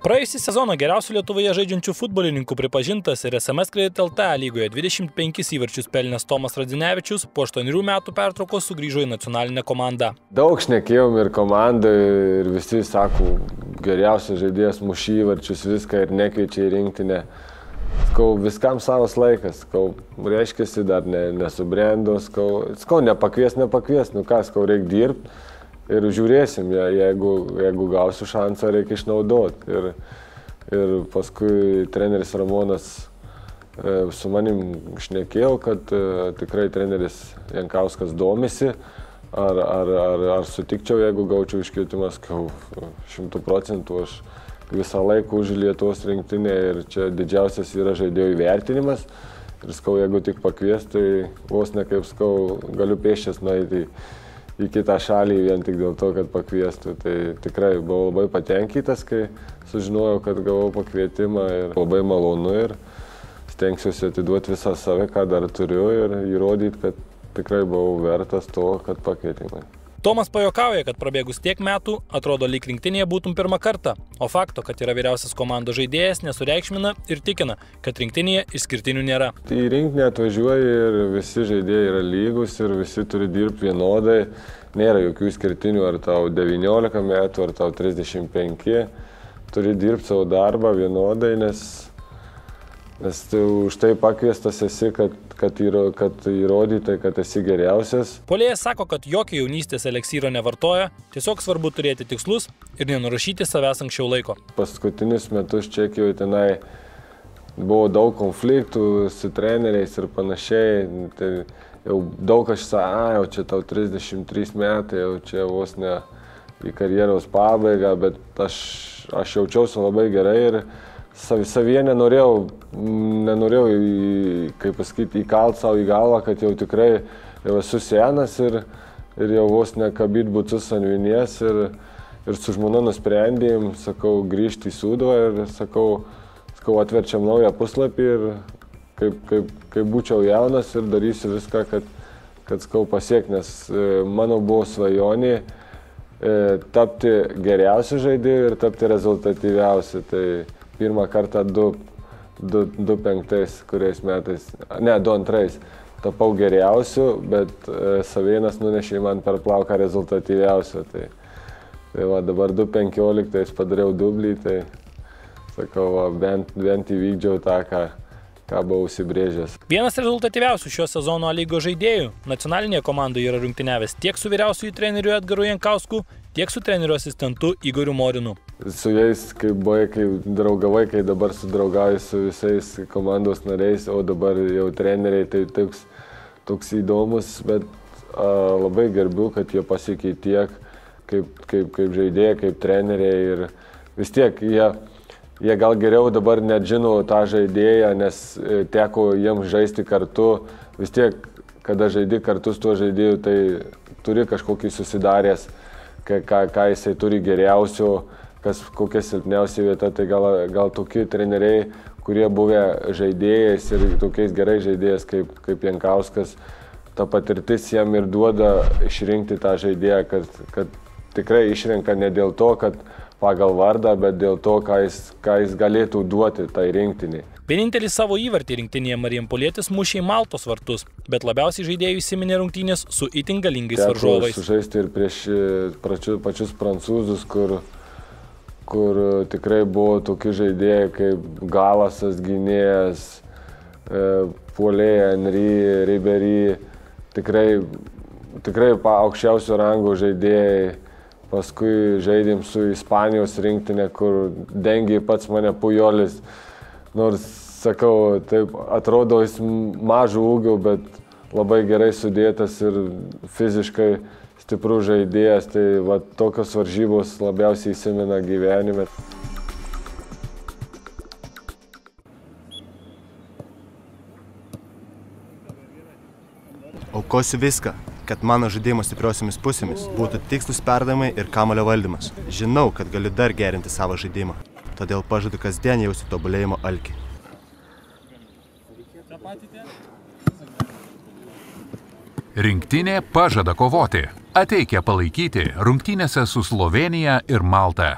Praėjusį sezoną geriausių Lietuvoje žaidžiančių futbolininkų pripažintas ir SMS Kredit LT lygoje 25 įvarčius pelnęs Tomas Radzinevičius po 8 metų pertraukos sugrįžo į nacionalinę komandą. Daug šnekėjom ir komandai ir visi sako, geriausias žaidėjas mušį įvarčius viską ir nekeičia į rinktinę. Skau, viskam savas laikas, skau, reiškiasi dar nesubrendo, skau, nepakvies, nu ką, skau, reikia dirbti. Ir žiūrėsim, jeigu gausiu šansą, reikia išnaudoti. Ir paskui treneris Ramonas su manim šnekėjo, kad tikrai treneris Jankauskas domisi, ar sutikčiau, jeigu gaučiau iškvietimą, 100%, aš visą laiką už Lietuvos rinktinę ir čia didžiausias yra žaidėjų įvertinimas. Ir skau, jeigu tik pakvies, tai vos ne kaip skau, galiu pėsčias nueiti į kitą šalį vien tik dėl to, kad pakviestų. Tai tikrai buvau labai patenkintas, kai sužinojau, kad gavau pakvietimą ir labai malonu ir stengsiuosi atiduoti visą save, ką dar turiu ir įrodyti, kad tikrai buvau vertas to, kad pakvietė mane. Tomas pajuokauja, kad prabėgus tiek metų, atrodo lyg rinktinėje būtum pirmą kartą, o fakto, kad yra vyriausias komandos žaidėjas, nesureikšmina ir tikina, kad rinktinėje išskirtinių nėra. Į rinktinę atvažiuoji ir visi žaidėjai yra lygus ir visi turi dirbti vienodai, nėra jokių išskirtinių, ar tau 19 metų, ar tau 35, turi dirbti savo darbą vienodai, nes tu už tai pakviestas esi, kad įrodytai, kad esi geriausias. Puolėjas sako, kad jokio jaunystės eleksyro nevartoja, tiesiog svarbu turėti tikslus ir nenurašyti savęs anksčiau laiko. Paskutinius metus Čekijoje tenai buvo daug konfliktų su treneriais ir panašiai. Tai jau daug aš jau čia tau 33 metai, jau čia vos ne į karjeros pabaigą, bet aš jaučiausi labai gerai ir savyje nenorėjau, kaip pasakyti, įkalt savo į galvą, kad jau tikrai jau esu senas ir jau vos nekabyt butus ant vinies ir su žmona nusprendėm, sakau, grįžti į Sūduvą ir sakau, atverčiam naują puslapį ir kaip būčiau jaunas ir darysiu viską, kad pasiekti, nes mano buvo svajonė tapti geriausiu žaidėju ir tapti rezultatyviausiu. Tai pirmą kartą 2005 kuriais metais, ne, 2002 tapau geriausiu, bet Savėnas nunešė man per plauką rezultatyviausiu. Tai va, dabar 2015 padariau dublį, tai sakau, bent įvykdžiau tą, ką buvau užsibrėžęs. Vienas rezultatyviausių šio sezono lygos žaidėjų nacionalinėje komandoje yra rungtyniavęs tiek su vyriausiuoju treneriu Edgaru Jankausku, tiek su treneriu asistentu Igoriu Morinu. Su jais, kai draugavai, kai dabar sudraugauji su visais komandos nariais, o dabar jau treneriai, tai toks įdomus, bet labai gerbiu, kad jie pasiekė tiek, kaip žaidėjai, kaip treneriai ir vis tiek jie gal geriau dabar net žino tą žaidėją, nes teko jiems žaisti kartu. Vis tiek, kada žaidi kartu su tuo žaidėju, tai turi kažkokį susidaręs, ką jisai turi geriausio, kokia silpniausia vieta. Tai gal tokie treneriai, kurie buvę žaidėjais ir tokiais gerai žaidėjais kaip Jankauskas, ta patirtis jam ir duoda išrinkti tą žaidėją, kad tikrai išrenka ne dėl to, kad pagal vardą, bet dėl to, ką jis galėtų duoti tai rinktiniai. Vienintelis savo įvartį rinktinėje Marijampolietis mušė į Maltos vartus, bet labiausiai žaidėjų įsiminė rungtynės su itin galingais varžovais. Teko sužaisti ir prieš pačius prancūzus, kur tikrai buvo tokie žaidėjai kaip Galasas, gynėjas, puolėja Henry, Ribery, tikrai aukščiausio rango žaidėjai. Paskui žaidėm su Ispanijos rinktinė, kur dengė pats mane Pujolis. Nors, sakau, taip atrodo jis mažų ūgių, bet labai gerai sudėtas ir fiziškai stiprus žaidėjas. Tai va, tokios varžybos labiausiai įsimena gyvenime. Aukosiu viską, kad mano žaidimo stipriosiomis pusėmis būtų tikslus perdavimai ir kamuolio valdymas. Žinau, kad galiu dar gerinti savo žaidimą, todėl pažadu kasdien jausti tobulėjimo alkį. Rinktinė pažada kovoti. Ateikia palaikyti rungtynėse su Slovėnija ir Malta.